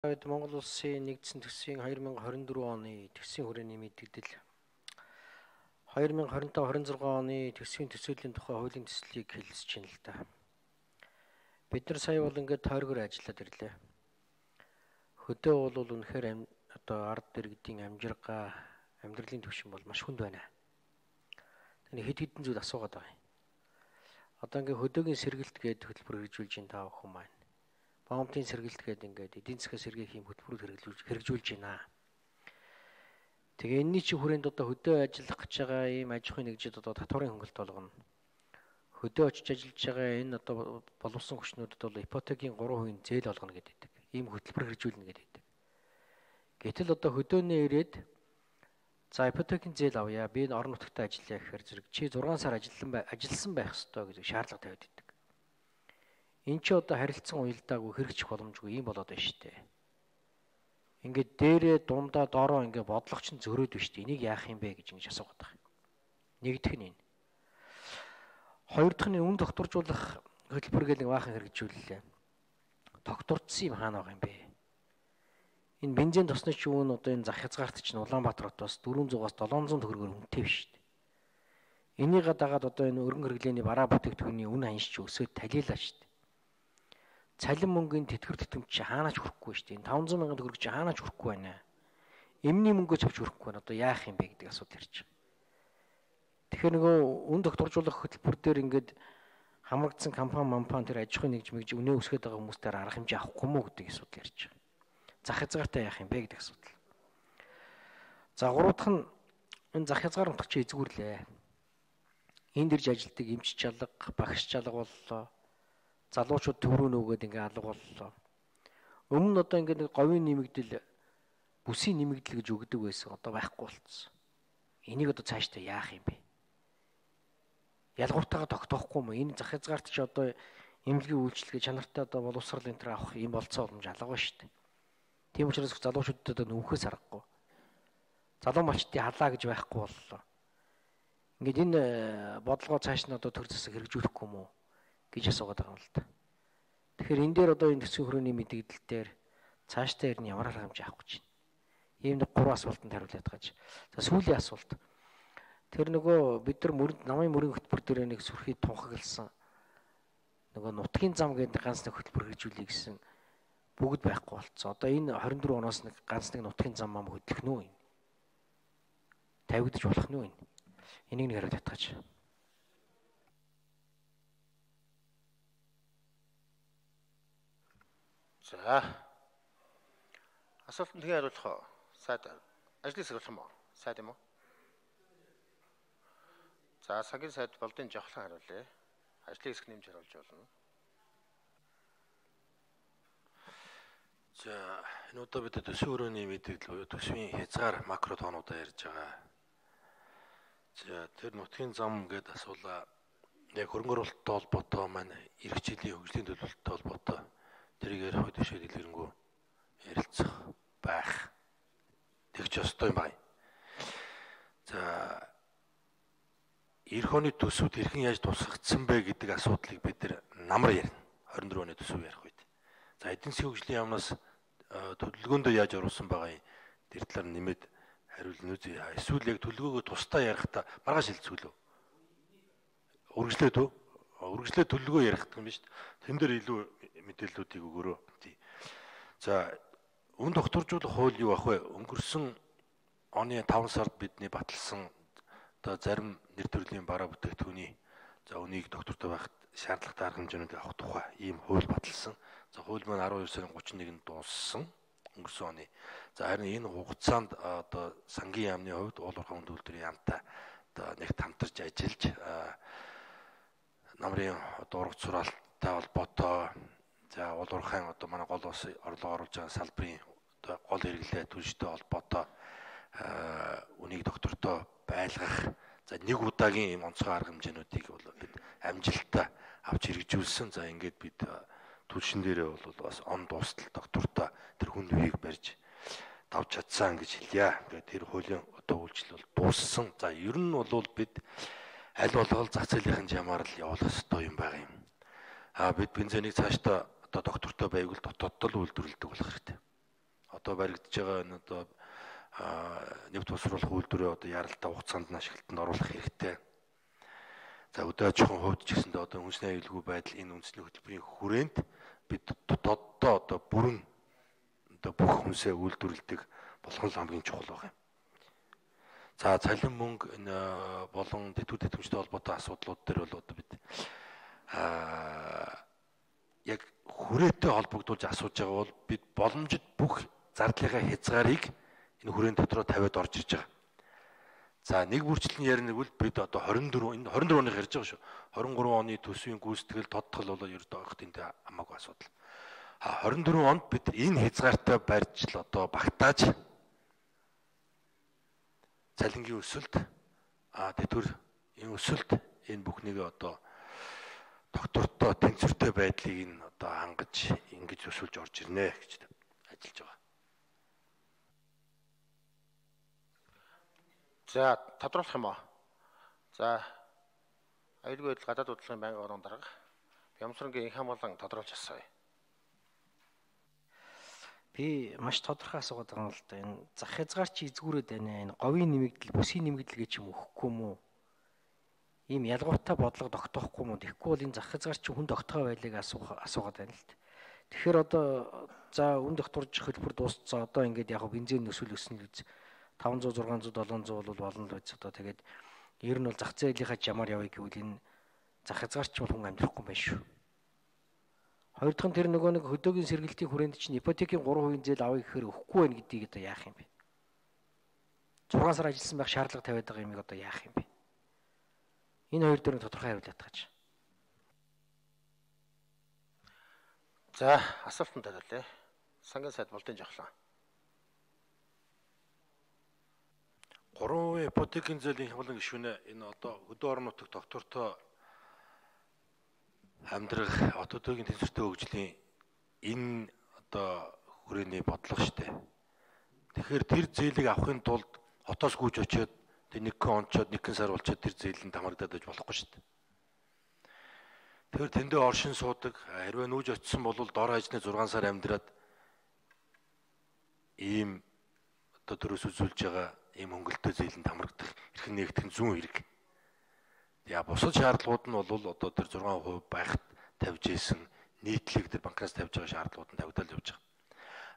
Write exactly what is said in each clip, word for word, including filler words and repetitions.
Монгол Улсын нэгдсэн төсвийн две тысячи двадцать четыре оны төсвийн хүрээний мэдээлэл две тысячи двадцать пять двадцать шесть оны төсвийн төсөөлийн тухай хуулийн төслийг хэлэлцэж байна л да. Бид нар сая бол ингээд тойргоор ажиллаад ирлээ. Хөдөө бол үнэхээр одоо ард иргэдийн амжиргаа, амьдралын түвшин бол маш хүнд байна. Тэний хэд хэдэн зүйл асуугаад байгаа юм. Одоо ингээд хөдөөгийн сэргэлт гээд хөтөлбөр хэрэгжүүлж ин таа охин маань. Бомтын сэргэлт гээд ингээд эдийн засгийн сэргээх юм хөтөлбөрөөр хэрэгжүүлж хэрэгжүүлж байна. Тэгээ энэний чи хүрээнд одоо хөдөө ажиллах гэж байгаа ийм аж ахуйн нэгжид одоо татварын хөнгөлт болгоно. Хөдөө очиж ажиллаж байгаа энэ одоо боловсон хүчнүүдэд бол ипотекийн гурван хувийн зээл олгоно гэдэг. Ийм хөтөлбөр хэрэгжүүлнэ гэдэг. Гэтэл одоо хөдөөнөө ирээд за ипотекийн зээл авъя. Би энэ орон нутагтаа ажиллая гэхээр зэрэг чи зургаан сар ажилласан ажилласан байх ёстой гэж шаардлага тавиад байдаг. Энд чи одоо харилцан уялдаагүй хэрэгжих боломжгүй юм болоод байна шүү дээ. Ингээд дээрээ дундаа доороо ингээд бодлого чинь зөрөөд байна шүү дээ. Энийг яах юм бэ гэж ингэж асуугаад байгаа. Нэгдүгээр нь энэ. Хоёр дахь нь үн докторжуулах хөтөлбөр гэл нэг баахан хэрэгжүүллээ. Доктордсон юм хаана байгаа юм бэ? Энэ бензин тосны ч үн одоо энэ зах хязгаарт чинь Улаанбаатар хотоос дөрвөн зугаас долоон зуун төгрөгөөр үнэтэй биш шүү дээ. Энийг дагаад одоо энэ өргөн хэрэглээний бараа бүтээгдэхүүний үн ханьш ч өсөөд талиалаа шүү дээ. Цалин мөнгөний тэтгэр тэтгэмж чи хаанаач хүрэхгүй шүү дээ. таван зуун мянган төгрөг чи хаанаач хүрэхгүй байна. Эмний мөнгөө авч хүрэхгүй байна. Одоо яах юм бэ гэдэг асуудал ирж байгаа. Тэгэхээр нөгөө үн докторжуулах хөтөлбөр дээр ингээд хамрагдсан компани мампан тэр аж ахуйн нэгж мэгж үнэ өсгöd байгаа хүмүүстээр арга хэмжээ авахгүй мó гэдэг асуудал ирж байгаа. Зах хязгаартай яах юм бэ гэдэг асуудал. За гурав дахь нь энэ зах хязгаар нутаг чи эзгүүрлээ. Энд ирж ажилтдаг эмч чалга, багш чалга боллоо. Залуучууд төврөө нөгөөд ингээ алга боллоо. Өмнө нь одоо ингээ нэг говийн нэмэгдэл, бүсийн нэмэгдэл гэж өгдөг байсан. Одоо байхгүй болцсон. Энийг одоо цаашдаа яах юм бэ? Ялгууртайгаа тогтоохгүй мó? Энэ зах хязгаарт чи одоо эмнэлгийн үйлчлэгээ чанартай одоо боловсрал энэ төр авах юм болцоо боломж алга ба шүү дээ. Тийм учраас залуучуудад одоо нөхөөс аргагүй. Залуу малчдын халаа гэж байхгүй боллоо. Ингээд энэ бодлогоо цааш нь одоо төр засаг хэрэгжүүлэхгүй мó гэж асуугаад байгаа юм л да. Тэгэхээр энэ дээр одоо энэ төсвийн хүрээний мэдээлэл дээр цаашдаа ирнэ ямар арга хэмжээ авах гэж байна. Ийм нэг гурван асуултанд хариулаад гаж. За сүүлийн асуулт. Тэр нөгөө бид нар мөрөнд намын мөрийн хөтөлбөр дээр нэг сүрхий тунхагласан нөгөө нутгийн зам гэдэг ганц нэг хөтөлбөр хэрэгжүүлэе гэсэн бүгд байхгүй болцсон. Одоо энэ двадцать четыре оноос нэг ганц нэг нутгийн зам мам хөдлөх нүү энэ. Тавигдаж болох нүү энэ. Энийг нэг хариулаад гаж. За. Асуултанд тэгээ хариулах сайд ажлыг сэрүүлэх юм уу? Сайд юм уу? За, цагийн сайд болдын жавхлан хариулъя. Ажлыг хэсэг нэмж хариулж болно. За, энэ удаа бид төсвийн өрөөний мэдээлэл буюу төсвийн хязгаар макро тоонуудаа ярьж байгаа. За, тэр нутгийн зам гэдээ асуулаа. Яг хөрөнгө оруулалттай холбоотой маань эх жилийн хөгжлийн төлөвлөлттэй холбоотой тэрийг ярих үед бишээ дэлгэрэнгүй ярилцах байх. Тэгж ёстой юм байна. За эх оны төсвүүд хэрхэн яаж тусгагдсан бэ гэдэг асуудлыг бид намар ярина. двадцать четыре оны төсөв ярих үед. За эдийн засгийн хөгжлийн яамнаас төлөвлөгөөндөө яаж оруулсан байгаа юм тэр талаар нэмээд хариулна үү? Эсвэл яг төлөвлөгөөгөө тусдаа ярихдаа маргааш хэлцүүлв. Үргэлжлээд үү? Үргэлжлээд төлөвлөгөө ярих гэх юм биш. Тэн дээр илүү мэдээллүүдийг өгөөрөө. За үн докторжуулах хууль юу ах вэ? Өнгөрсөн оны таван сард бидний баталсан одоо зарим нэр төрлийн бараа бүтээгдэхүүний за үнийг доктортой байхад шаардлагатай арга хэмжээнүүд авах тухай ийм хууль баталсан. За хууль маань twelve сарын thirty-нэг нь дууссан өнгөрсөн оны. За харин энэ хугацаанд одоо сангийн яамны хувьд уул уурхай хүнд үйлдвэрийн яамтай одоо нэг хамтарч ажиллаж намрын одоо ургац сураалтай холбоотой за уул уурхайн одоо манай гол ус орлого оруулж байгаа салбарын одоо гол хэрэглээ түнштэй холбоотой үнийг доктортой байлгах за нэг удаагийн юм онцгой арга хэмжээнүүдийг бол бид амжилттай авч хэрэгжүүлсэн. За ингээд бид түлшин дээрээ бол бас он дуустал доктортой тэр хүн үеийг барьж давж чадсан гэж хэлье. Тэгээд тэр хуулийн одоо үйлчлэл бол дууссан. За ер нь бол бид аль болгол зах зээлийн жамаар л явуулах ёстой юм байгаа юм. А бид бензинийг цаашдаа одоо доктортой байвал дотооддоо л үйлдвэрлэдэг болох хэрэгтэй. одоо баригдаж байгаа энэ одоо нефт босруулах үйлдвэрээ одоо яралтай хугацаанд нь ашиглалтанд оруулах хэрэгтэй. За өдөө аж ахуйн хувьд ч гэсэндээ одоо үндэсний аюулгүй байдал энэ үндэсний хөтөлбөрийн хүрээнд бид дотооддоо одоо бүрэн одоо бүх хүнсээ үйлдвэрлэдэг болгон л хамгийн чухал байна. За цалин мөнгө энэ болон дэвтэр тэтгэмжтэй холбоотой асуудлууд дээр бол одоо бид аа яг хүрээтэй холбогдуулж асууж байгаа бол бид боломжит бүх зардлынхаа хязгаарыг энэ хүрээний дотроо тавиад орж ирж байгаа. За нэг бүрчлэн ярина гэвэл бид одоо хорин дөрөв энэ хорин дөрөв оных ярьж байгаа шүү. хорин гурав оны төсвийн гүйцэтгэл тодтол бол ердөө огт энэ хамаагүй асуудал. А хорин дөрөв онд бид энэ хязгаартай барьж л одоо багтааж цалингийн өсөлт а тэтгэр энэ өсөлт энэ бүхнийг одоо доктортой тэнцвэртэй байдлыг нь одоо хангаж ингэж өсүүлж орж ирнэ гэж ажиллаж байгаа. За тодруулах юм аа. За аюулгүй байдал гадаад бодлогын байнгын орон дарга Бямсрангийн инх хамгаалан тодруулж асууя. Би маш тодорхой асуугаад байгаа юм л да. Энэ зах хязгаар чи эзгүүрээд байна. Энэ говийн нэмэгдэл, бүсийн нэмэгдэл гэж юм өгөхгүй мүү? Ийм ялгуутай бодлого тогтоохгүй мүү? Тэгэхгүй бол энэ зах хязгаар чи хүн тогтгоо байлыг асуух асуугаад байна л да. Тэгэхээр одоо за үн докторж хөтөлбөр дуусцсан. Одоо ингээд яг бензин өсвөл өснө л үз. таван зуун, зургаан зуун, долоон зуун бол болно л үз. Одоо тэгээд ер нь бол зах зээлийнхаа жамаар явъя гэвэл энэ зах хязгаар чи бол хүн амьдрахгүй байх шүү. Хоёр дахь нь тэр нөгөө нэг хөдөөгийн сэргэлтийн хүрээнд чинь ипотекийн гурван хувийн зээл авъя гэхээр өгөхгүй байх гэдгийг одоо яах юм бэ? зургаан сар ажилласан байх шаардлага тавиад байгаа юмыг одоо яах юм бэ? Энэ хоёр дээр тодорхой хариулт тааж. За асуултанд хариулъя. Сангийн сайд Болдын Жохлон. гурван хувийн ипотекийн зээлийн хямлан гишүүнээ энэ одоо хөдөө орон нутагт доктортой амьдрах отодогийн тэнцвэртэй хөгжлийн энэ одоо хүрээний бодлого штэ. Тэгэхээр тэр зээлийг авахын тулд хотоос гүйж очиод тэр нэг хэн онцоод нэг хэн сар болчоод тэр зээлэнд хамрагдаад байж болохгүй штэ. Тэгэхээр тэндээ оршин суудаг хэрвээ нүүж очисон бол дор хажны зургаан сар амьдраад ийм одоо төрөөс үзүүлж байгаа ийм хөнгөлтөө зээлэнд хамрагдах эрхэн нэгтгэн зүүн хэрэг. Яа бусад шаардлагууд нь бол одоо тэр зургаан хувь байхад тавьж исэн нийтлэг тэр банкнаас тавьж байгаа шаардлагууд нь тавигдал явж байгаа.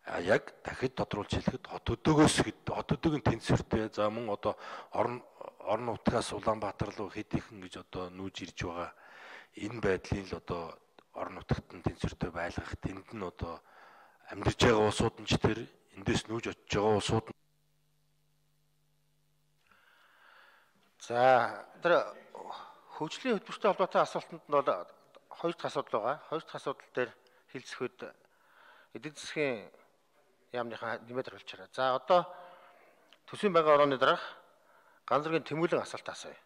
А яг дахид тодруулж хэлэхэд хот өдөөгөөс хот өдөөгийн тэнцвэртэй за мөн одоо орон орон нутгаас Улаанбаатар руу хэд ихэн гэж одоо нүүж ирж байгаа энэ байдлын л одоо орон нутагт нь тэнцвэртэй байлгах тэнд нь одоо амьдарч байгаа улсууд нь ч тэр эндээс нүүж очиж байгаа улсууд нь за тэр хөгжлийн хөтөлбөртэй холбоотой асуултанд нь бол хоёр дахь асуудал байгаа. Хоёр дахь асуудал дээр хэлцэхэд эдийн засгийн яамныхаа нэмээд харуулж байгаа. За одоо төсвийн байнгын орооны дарга ганц зэргийн тэмүүлэн асуулт асууя.